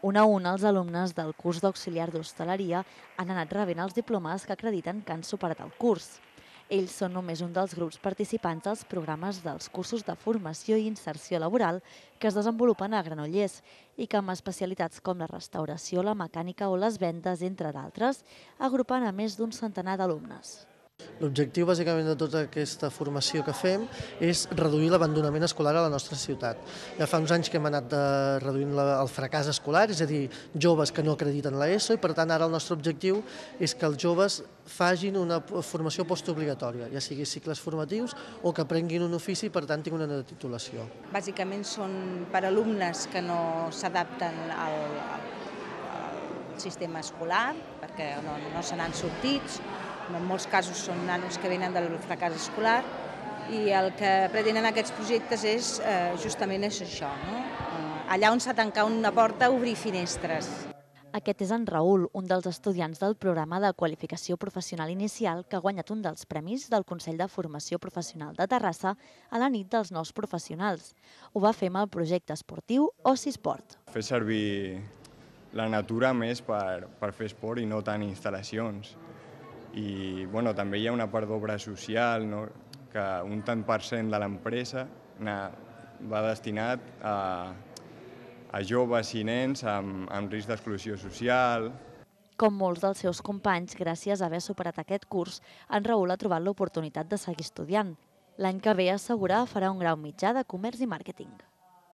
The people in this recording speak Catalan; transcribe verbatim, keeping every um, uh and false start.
Un a un, els alumnes del curs d'auxiliar d'hostaleria han anat rebent els diplomes que acrediten que han superat el curs. Ells són només un dels grups participants dels programes dels cursos de formació i inserció laboral que es desenvolupen a Granollers i que amb especialitats com la restauració, la mecànica o les vendes, entre d'altres, agrupen a més d'un centenar d'alumnes. L'objectiu, bàsicament, de tota aquesta formació que fem és reduir l'abandonament escolar a la nostra ciutat. Ja fa uns anys que hem anat reduint el fracàs escolar, és a dir, joves que no acrediten l'ESO, i per tant ara el nostre objectiu és que els joves facin una formació postobligatòria, ja sigui cicles formatius o que aprenguin un ofici i per tant tinguin una titulació. Bàsicament són per alumnes que no s'adapten al, al sistema escolar, perquè no, no se n'han sortit. En molts casos són nanos que venen del fracàs escolar i el que pretenen aquests projectes és eh, justament és això, no? Allà on s'ha tancat una porta, obrir finestres. Aquest és en Raül, un dels estudiants del programa de qualificació professional inicial que ha guanyat un dels premis del Consell de Formació Professional de Terrassa a la nit dels nous professionals. Ho va fer amb el projecte esportiu Oci Esport. Fer servir la natura més per, per fer esport i no tant instal·lacions. I bueno, també hi ha una part d'obra social, no? Que un tant per cent de l'empresa va destinat a, a joves i nens amb, amb risc d'exclusió social. Com molts dels seus companys, gràcies a haver superat aquest curs, en Raül ha trobat l'oportunitat de seguir estudiant. L'any que ve, assegura, farà un grau mitjà de comerç i màrqueting.